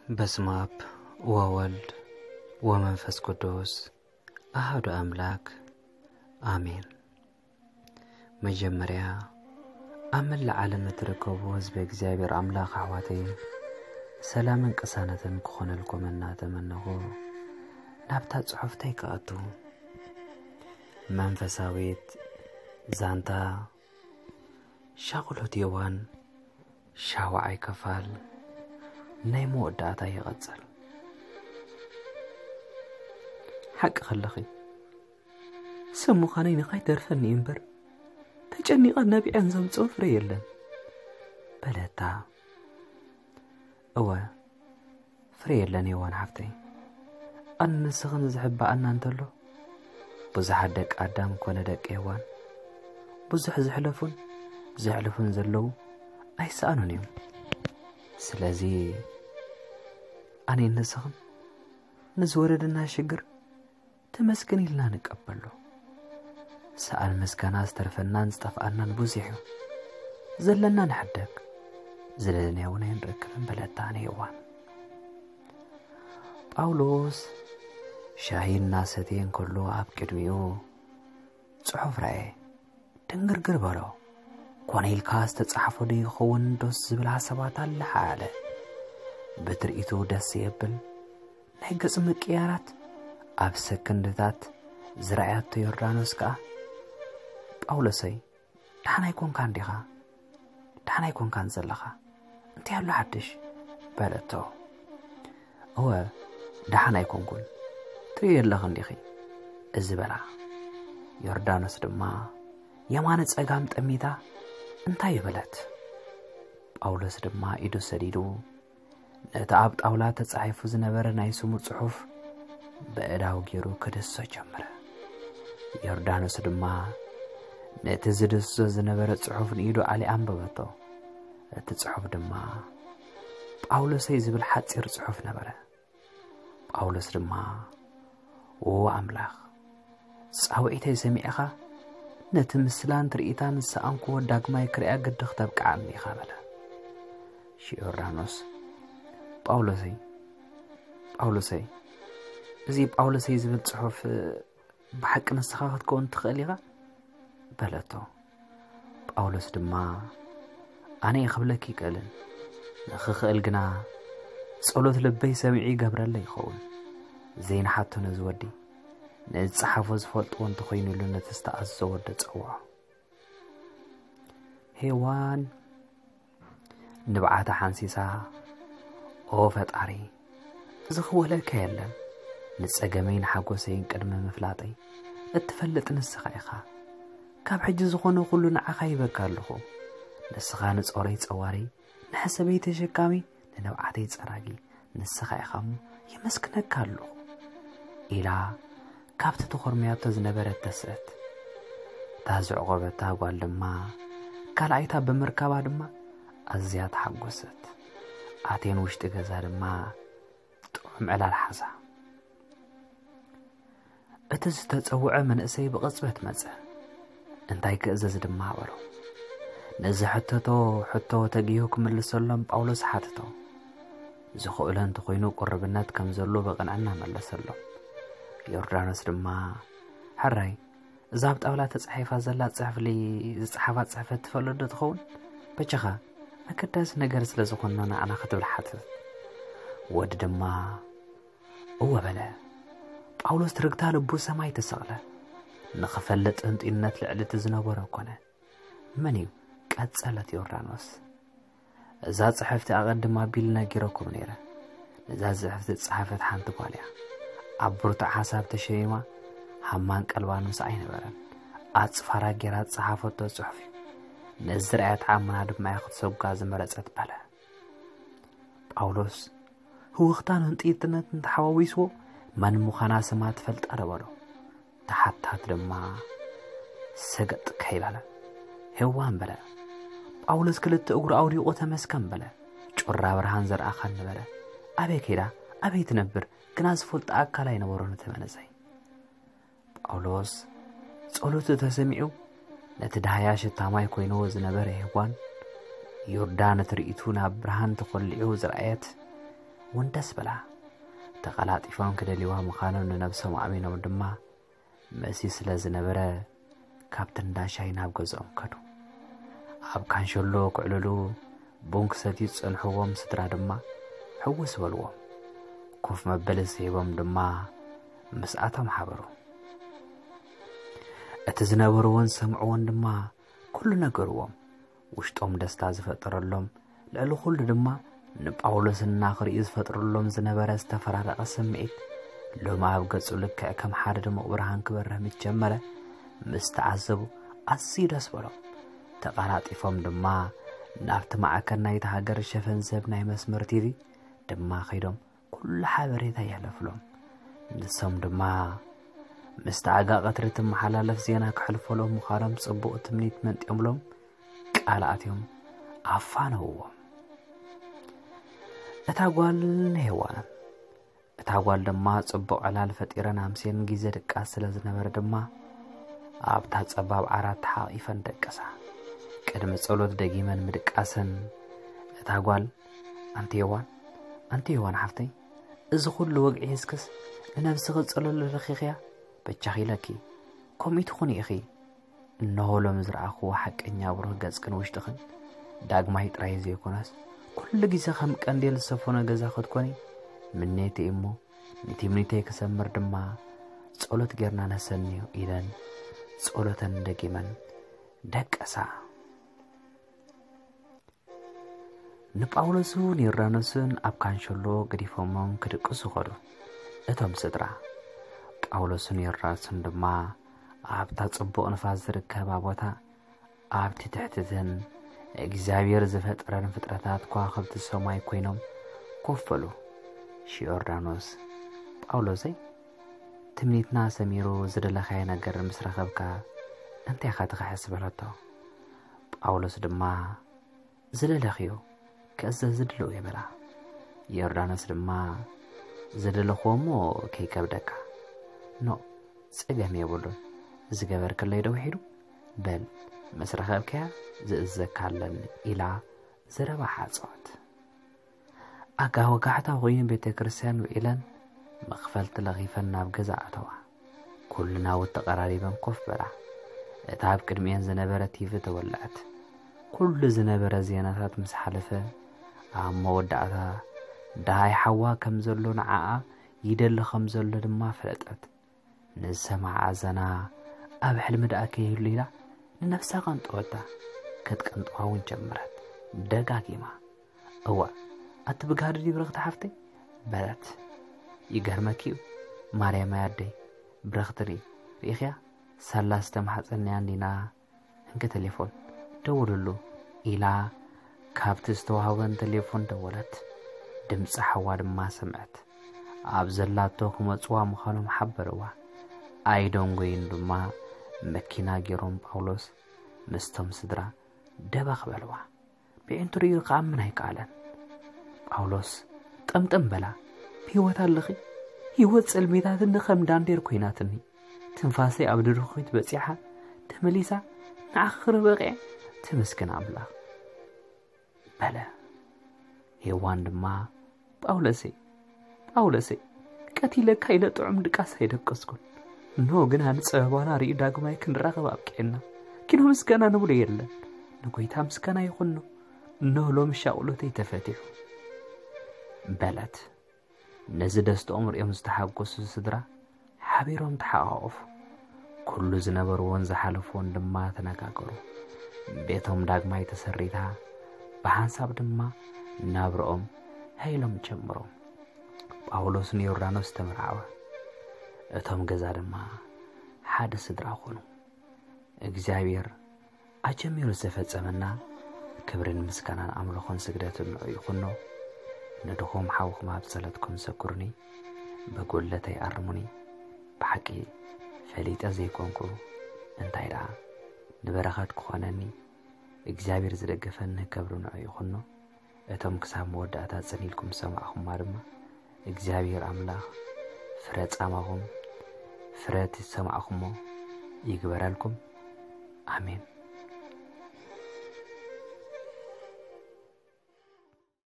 በስመ አብ ወወልድ ወመንፈስ ቅዱስ አሐዱ አምላክ አሜን። መጀመርያ ኣብ መላእ ዓለም እትርከቡ ህዝቢ እግዚኣብሔር ኣምላኽ ኣሕዋተይ ሰላምን ቅሳነትን ክኾነልኩም እናተመነኹ ናብታ ጽሑፍተይ ክኣቱ። መንፈሳዊት ዛንታ ሻቕሎት ዮዋን ሻውዓይ ክፋል ናይ መወዳእታ ይቐጽል። ሓቂ ከለኺ ሰብ ምዃነይ ንኸይተርፈኒ እምበር ተጨኒቐን ነቢዐን ዘምጽኦ ፍረ የለን በለታ። እወ ፍረ የለን ዮዋን ሓፍተይ። ኣነ ንስኽን ዝሕባኣና እንተሎ ብዙሓት ደቂ ኣዳም ኮነ ደቂ ሄዋን ብዙሕ ዘሕለፉን ዘሕልፉን ዘለዉ ኣይሰኣኑን እዮም። ስለዚ ኣነ ንስኽን ንዝወረደና ሽግር ተመስገን ኢልና ንቀበሎ። ሰኣን ምስጋና ዝተርፈናን ዝጠፍኣናን ብዙሕ እዩ። ዘለና ንሕደግ ዝደለናዮ እውን ኣይንረክብን በለታ ንሄዋን። ጳውሎስ ሻሂ እናሰተየ እንከሎ ኣብ ቅድሚኡ ጽሑፍ ረኣየ። ድንግርግር በሎ። ኮነ ኢልካ ዝተጻሕፎ ዶ ይኸውን ዶስ ዝብል ሓሳባት ኣለሓ ኣለ። ብትርኢቱ ደስ የብል ናይ ገጽ ምቅያራት ኣብ ሰከንድታት ዝረኣያቶ ዮርዳኖስ ከኣ ጳውሎሰይ ደሓን ኣይኮንካን ዲኻ? ደሓን ኣይኮንካን ዘለኻ? እንታይ ኣሎ ሓድሽ? በለቶ። እወ ደሓን ኣይኮንኩን፣ ትርእዮ ኣለኺ እንዲኺ እዚ በላ። ዮርዳኖስ ድማ የማነ ጸጋም ጠሚታ እንታይ በለት? ጳውሎስ ድማ ኢዱ ሰዲዱ ነቲ ኣብ ጣውላ ተጻሒፉ ዝነበረ ናይ ስሙ ጽሑፍ በእዳው ገይሩ ክድህሶ ጀመረ። ዮርዳኖስ ድማ ነቲ ዝድህሶ ዝነበረ ጽሑፍ ንኢዱ ኣልያ ኣንበበቶ። እቲ ጽሑፍ ድማ ጳውሎሰይ ዝብል ሓጺር ጽሑፍ ነበረ። ጳውሎስ ድማ ዎ ኣምላኽ ጻውዒተይ ሰሚዕኻ ነቲ ምስላን ትርኢታን ዝሰኣንክዎ ዳግማይ ክርእያ ግዲ ክተብቅዓኒ ኢኻ በለ። ዮርዳኖስ ጳውሎሰይ ጳውሎሰይ እዚ ጳውሎሰይ ዝብል ጽሑፍ ብሓቂ ንስኻ ክትከውን ትኽእል ኢኻ በለቶ። ጳውሎስ ድማ ኣነ እየ ክብለኪ ይክእልን ንኽኽእል ግና ጸሎት ልበይ ሰሚዑ ይገብረለይ ይኸውን። ዘይንሓቶ ነዚ ወዲ ንዝጸሓፎ ዝፈልጥዎ እንተኾይኑሉ ነቲ ዝተኣዘዘ ወዲ ጸውዖ። ሄዋን ንብዓታ ሓንሲሳ ኦ ፈጣሪ ዝኽወለካ የለን። ንጸገመይን ሓጎሰይን ቅድሚ ምፍላጠይ እትፈልጥ ንስኻ ኢኻ። ካብ ሕጂ ዝኾነ ኩሉ ንዓኻ ይበካ ኣለኹ። ንስኻ ንጾረይ ጸዋሪ ንሕሰበይ ተሸካሚ ንንብዓተይ ጸራጊ ንስኻ ኢኻ እሞ የመስግነካ ኣለኹ ኢላ ካብቲ ተኾርምያቶ ዝነበረት ተስእት። እታ ዘዕቆበታ ጓል ድማ ካልኣይታ ብምርካባ ድማ ኣዝያ ተሓጎሰት። ኣትየን ውሽጢ ገዛ ድማ ጥዑም ዕላል ሓዛ። እቲ ዝተጸውዐ መንእሰይ ብቕጽበት መጸ። እንታይ ክእዘዝ ድማ በሎ። ነዚ ሕተቶ ሕቶ ተጊሁ ክምልሰሎም ጳውሎስ ሓተቶ። ዝኽእሎ እንተኾይኑ ቁርብነት ከም ዘሎ ብቕንዕና መለሰሎም። ዮርዳኖስ ድማ ሕራይ እዛ ኣብ ጣውላ ተጻሒፋ ዘላ ጽሕፍሊ ዝጸሓፋ ጽሕፈት ትፈልጥ ዶ ትኸውን? በጃኻ ኣገዳሲ ነገር ስለ ዝኾንና ንዓና ክትብል ሓተተት። ወዲ ድማ እወ በለ። ጳውሎስ ትርግታ ልቡ ሰማይ ተሰቕለ። ንኽፈልጥ ህንጡይነት ልዕሊ እቲ ዝነበሮ ኮነ። መን እዩ? ቀጸለት ዮርዳኖስ። እዛ ጽሕፍቲ ኣቐድም ኣቢሉ ነጊረኩም ነይረ። ነዛ ጽሕፍቲ ዝጸሓፈት ሓንቲ ጓል እያ። ኣብ ብርቱዕ ሓሳብ ተሸሚማ ሃማን ቀልባን ምስኣ ኣይነበረን። ኣጽፋራ ጌራ ዝጸሓፈቶ ጽሑፍ እዩ። ነዚ ርኣያ ተኣምና ድማ እያ ክትሰጓ ዝመረጸት በለ። ጳውሎስ ህውኽታን ህንጥይትነትን ተሓዋዊስዎ መን ምዃና ስማ ትፈልጣ ዶ በሎ። ተሓታት ድማ ሰገጥ ከይበለ ሄዋን በለ። ጳውሎስ ክልተ እግሩ ኣውዲቑ ተመስገን በለ። ጩራ ብርሃን ዘርኣኻኒ በለ። ኣበይ ከይዳ ኣበይ ትነብር ግና ዝፈልጦ ኣካል ኣይነበሮን እቲ መንእሰይ። ጳውሎስ ጸሎቱ ተሰሚዑ ነቲ ዳህያ ሽታ ማይ ኮይንዎ ዝነበረ ሄዋን ዮርዳን ትርኢቱ ናብ ብርሃን ተኾሊዑ ዝረኣየት እውን ደስ በላ። ተቐላጢፎም ክደልይዋ ምዃኖም ንነብሶም ኣእሚኖም ድማ መሲ ስለ ዝነበረ፣ ካብቲ እንዳ ሻሂ ናብ ገዝኦም ከዱ። ኣብ ካንሸሎ ክዕልሉ ቡን ክሰትዩ ዝጸንሕዎም ስድራ ድማ ሕውስ በልዎም። ኮፍ መበሊ ስሒቦም ድማ ምስኣቶም ሓበሩ። እቲ ዝነበርዎን ዝሰምዕዎን ድማ ኩሉ ነገርዎም። ውሽጦም ደስታ ዝፈጠረሎም፣ ልዕሊ ኩሉ ድማ ንጳውሎስ እናኽርእዩ ዝፈጥረሎም ዝነበረ ዝተፈራረቐ ስምዒት፣ ሎሚ ኣብ ገጹ ልክዕ ከም ሓደ ድሙቕ ብርሃን ክበርህ ምስ ጀመረ፣ ምስ ተዓዘቡ ኣዝዩ ደስ በሎም። ተቐላጢፎም ድማ ናብቲ ማዕከን ናይቲ ሃገር ሸፈን ዝህብ ናይ መስመር ቲቪ ድማ ከይዶም ኩሉ ሓበሬታ የሕለፍሎም። ንሶም ድማ ምስቲ ኣጋ ቀትሪ ትመሓላለፍ ዜና ክሕልፈሎም ምዃኖም ጽቡቕ ትምኒት መንጢዮምሎም ቃል ኣትዮም ኣፋነውዎም። እታ ጓል ንሄዋን እታ ጓል ድማ ጽቡቕ ዕላል ፈጢረን ኣምስየን ግዜ ድቃስ ስለ ዝነበረ ድማ ኣብታ ጸባብ ዓራት ተሓቒፈን ደቀሳ። ቅድሚ ጸሎት ደጊመን ምድቃሰን እታ ጓል፣ ኣንቲ ዮዋን፣ ኣንቲ ዮዋን ሓፍተይ፣ እዚ ኩሉ ወግዒ ሒዝክስ ንነብስኺ ጸሎት ለኺኽያ? በጃኺ ኢለኪ፣ ከምኡ ትኹኒ ኢኺ። እንሆ ሎሚ ዝረኣኽዎ ሓቀኛ ብሩህ ገጽክን ውሽጥኽን ዳግማይ ጥራይ ዘይኮነስ፣ ኩሉ ግዜ ከም ቀንዴል ዝሰፈኖ ገዛ ክትኮኒ ምኔተይ እሞ፣ ንትምኒተይ ክሰምር ድማ ጸሎት ጌርና ነሰንዮ ኢለን ጸሎተን ደጊመን ደቀሳ። ንጳውሎስን ዮርዳኖስን ኣብ ካንሸሎ ገዲፎሞም ክድቅሱ ኸዱ። እቶም ስድራ ጳውሎስን ዮርዳኖስን ድማ ኣብታ ጽቡቕ ንፋስ ዝርከባ ቦታ ኣብቲ ትሕትትን እግዚኣብሔር ዝፈጠረን ፍጥረታት ከዋኽብቲ ሰማይ ኮይኖም ኮፍ በሉ። ዮርዳኖስ፣ ጳውሎሰይ፣ ትምኒትና ሰሚሩ ዝደለኻዮ ነገር ምስ ረኸብካ እንታይ ኢኻ ትኽሕስ? በለቶ። ጳውሎስ ድማ ዝደለኽዮ ክእዘዝ ድሉው እየ በላ። ዮርዳኖስ ድማ ዝደለኽዎ እሞ ከይከብደካ። ኖ፣ ጸገም የብሉን። ዝገበርክለይ ዶ ውሒዱ? በል፣ ምስ ረኸብካያ ዝእዘካ ኣለኒ ኢላ ዘረባ ሓጸወት። ኣጋ ወጋሕታ ኮይኑ ቤተ ክርስቲያን ውዒለን መኽፈልቲ ለኺፈን ናብ ገዛ ኣተዋ። ኩሉ ናውቲ ተቐራሪበን ኮፍ በላ። እታ ኣብ ቅድሚኤን ዝነበረ ቲቪ ተወልዐት። ኩሉ ዝነበረ ዜናታት ምስ ሓለፈ፣ ኣብ መወዳእታ ደሃይ ሓዋ ከም ዘሎ ንዓኣ ይደሊ ከም ዘሎ ድማ ፈለጠት። ንዝሰምዓ ዘና ኣብ ሕልሚ ደኣ ከይህሉ ኢላ ንነብሳ ቀንጠወታ። ከትቀንጥዋ እውን ጀመረት ደጋጊማ። እዋእ፣ ኣቲ ብጋህዲ ድዩ ብረኽቲ ሓፍተይ? በለት። ይገርመኪ እዩ ማርያማይ ኣደይ፣ ብረኽቲ ድዩ? ርኢኽያ? ሳላ ዝተማሕጸንያ እንዲና፣ እንኪ ቴሌፎን ደውልሉ ኢላ ካብቲ ዝተዋህበን ቴሌፎን ደወለት። ድምፂ ሓዋ ድማ ሰምዐት። ኣብ ዘላቶ ክመፅዋ ምዃኖም ሓበርዋ። ኣይደንጎይን ድማ መኪና ገይሮም ጳውሎስ ምስቶም ስድራ ደበኽ በልዋ። ብዒንቱ ርእዩ ክኣምን ኣይከኣለን። ጳውሎስ ጠምጠም በላ፣ ብህይወት ኣለኺ? ህይወት ጸልሚታትኒ ከም ዳንዴር ኮይናትኒ። ትንፋሰይ ኣብ ድርኺት በጺሓ ተመሊሳ ንዓኺ ክርኢ በቒዐ። ተመስገን ኣምላኽ በለ። ሄዋን ድማ ጳውሎሰይ፣ ጳውሎሰይ፣ ቀቲለካ ኢለ ጥዑም ድቃስ ኣይደቀስኩን። እንሆ ግና ንጸበባና ርእዩ ዳግማይ ክንራኸብ ኣብቂዕና። ኪኖ ምስጋና ንብሎ የለን። ንጎይታ ምስጋና ይኹኖ። እንሆ ሎሚ ሻቕሎተይ ተፈቲሑ በለት። ነዚ ደስትኦም ርእዮም ዝተሓጎሱ ስድራ ሓቢሮም ተሓቋቖፉ። ኩሉ ዝነበርዎን ዝሓለፍዎን ድማ ተነጋገሩ። ቤቶም ዳግማይ ተሰሪታ፣ ብሓንሳብ ድማ ናብርኦም ሃይሎም ጀምሮም። ጳውሎስን ዮርዳኖስ ተመርዓወ። እቶም ገዛ ድማ ሓደ ስድራ ኾኑ። እግዚኣብሔር ኣጀሚሩ ዘፈጸመና ክብርን ምስጋናን ኣምልኾን ስግደትን ንዑ ይኹኖ። ንድኹም ሓውኹም ኣብ ጸሎትኩም ዘክሩኒ፣ ብጉድለተይ ኣርሙኒ። ብሓቂ ፈሊጠ ዘይኮንኩ እንታይ ደኣ ንበረኸት ክኾነኒ እግዚኣብሔር ዝደገፈኒ ክብሪ ንዑ ይኹኖ። እቶም ክሳብ መወዳእታ ጽን ኢልኩም ዝሰማዕኹማ ድማ እግዚኣብሔር ኣምላኽ ፍረ ጻማኹም ፍረ እቲ ዝሰማዕኹሞ ይግበረልኩም። ኣሜን።